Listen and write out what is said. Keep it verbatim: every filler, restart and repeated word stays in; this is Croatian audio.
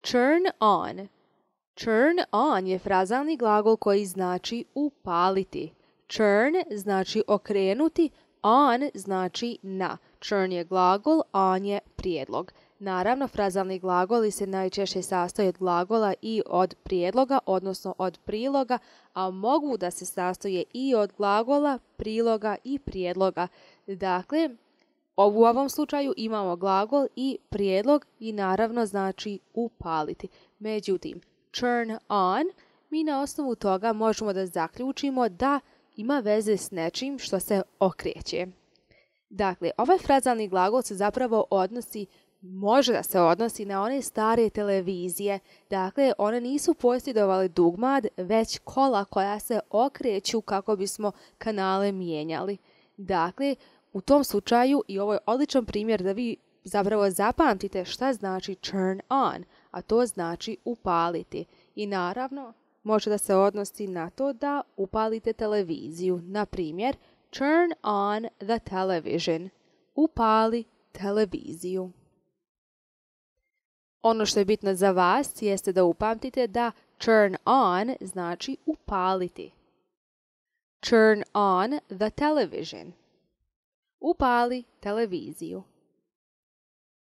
Turn on. Turn on je frazalni glagol koji znači upaliti. Turn znači okrenuti, on znači na. Turn je glagol, on je prijedlog. Naravno, frazalni glagoli se najčešće sastoje od glagola i od prijedloga, odnosno od priloga, a mogu da se sastoje i od glagola, priloga i prijedloga. Dakle, u ovom slučaju imamo glagol i prijedlog i naravno znači upaliti. Međutim, turn on, mi na osnovu toga možemo da zaključimo da ima veze s nečim što se okreće. Dakle, ovaj frazalni glagol se zapravo odnosi, može da se odnosi na one stare televizije. Dakle, one nisu posjedovale dugmad, već kola koja se okreću kako bismo kanale mijenjali. Dakle, u tom slučaju, i ovo je odličan primjer da vi zapravo zapamtite šta znači turn on, a to znači upaliti. I naravno, može da se odnosi na to da upalite televiziju. Na primjer, turn on the television. Upali televiziju. Ono što je bitno za vas jeste da upamtite da turn on znači upaliti. Turn on the television. Upali televiziju.